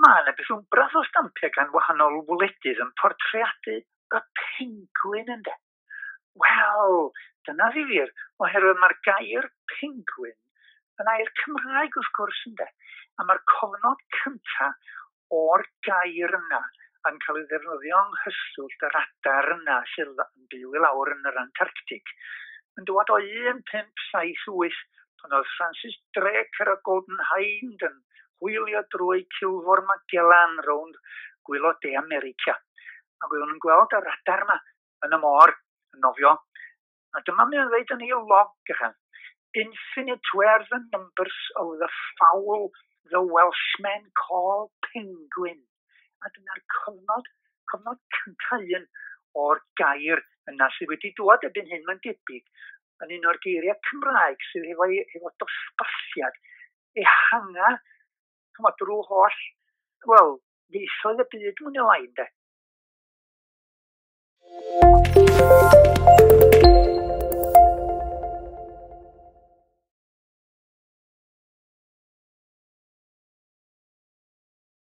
Mae yna beth wmbrath o stampiau gan wahanol wledydd yn portreadu y pengwin ynde. Wel, dyna ddifyr, oherwydd mae'r gair pengwin yn air Cymraeg wrth gwrs ynde. A mae'r cofnod cynta o'r gair yna yn cael ei ddefnyddio yng nghyswllt yr adar yna sydd yn byw i lawr yn yr Antarctic yn dŵad o 1578 pan oedd Francis Drake ar y Golden Hind yn hwylio drwy Culfor Magellan rownd gwaelod De America. Ac oedden nhw'n gweld yr adar yma yn y môr, yn nofio. A dyma mae'n dweud yn ei log ychan. "Infinite were the numbers of the fowl the Welshmen call penguin." A dyna'r cofnod cyntaf un o'r gair yna sydd wedi dŵad erbyn hyn, mae'n debyg, yn un o'r geiriau Cymraeg sydd efo dosbarthiad ehanga, ch'mod, drwy holl, wel, ieithoedd y byd mwy neu lai, ynde.